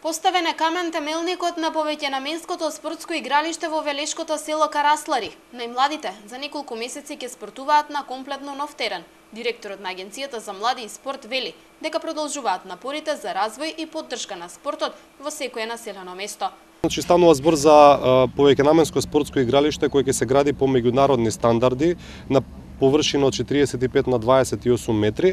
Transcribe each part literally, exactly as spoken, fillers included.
Поставен е камен темелникот на повеќенаменското спортско игралиште во велешкото село Караслари. Најмладите за неколку месеци ќе спортуваат на комплетно нов терен. Директорот на Агенцијата за млади и спорт вели дека продолжуваат напорите за развој и поддршка на спортот во секое населено место. Значи станува збор за повеќенаменско спортско игралиште кој ќе се гради по меѓународни стандарди на површина од четириесет и пет на дваесет и осум метри.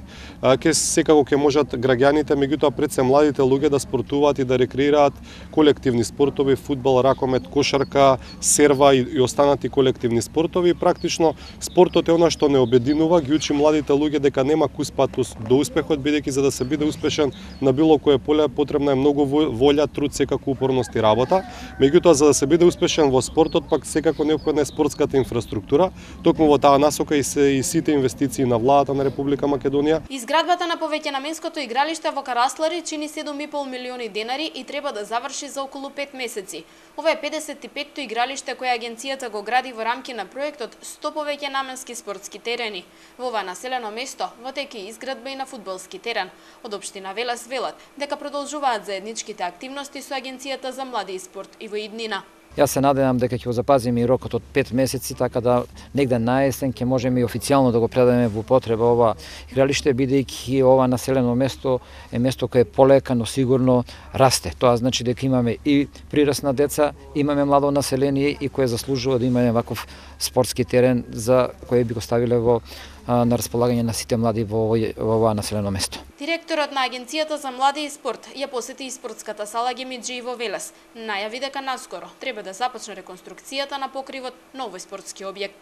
Ке секако ќе можат граѓаните, меѓутоа пред се младите луѓе да спортуваат и да рекреираат колективни спортови, фудбал, ракомет, кошарка, серва и, и останати колективни спортови. Практично спортот е она што не обединува, ги учи младите луѓе дека нема кус пат до успехот, бидејќи за да се биде успешен на било кое поле потребна е многу волја, труд, секако упорност и работа. Меѓутоа за да се биде успешен во спортот, пак секако неопходна е спортската инфраструктура. Токму во таа насока и и сите инвестиции на владата на Република Македонија. Изградбата на повеќенаменското игралиште во Караслари чини седум и пол милиони денари и треба да заврши за околу пет месеци. Ова е педесет и петто игралиште кое агенцијата го гради во рамки на проектот сто повеќенаменски спортски терени. Во ова населено место во теке изградба и на фудбалски терен. Од општина Велес велат дека продолжуваат заедничките активности со Агенцијата за млади и спорт и во иднина. Јас се надевам дека ќе го запазиме и рокот од пет месеци, така да негде на есен ќе можеме и официјално да го предадеме во употреба ова игралиште, бидејќи ова населено место е место кое е полека, но сигурно расте. Тоа значи дека имаме и прираст на деца, имаме младо население и кое заслужува да имаме ваков спортски терен за кој би го ставиле во на располагање на сите млади во ова населено место. Директорот на Агенцијата за млади и спорт ја посети и спортската сала Гемиџи во Велес. Најави дека наскоро треба да започне реконструкцијата на покривот на овој спортски објект.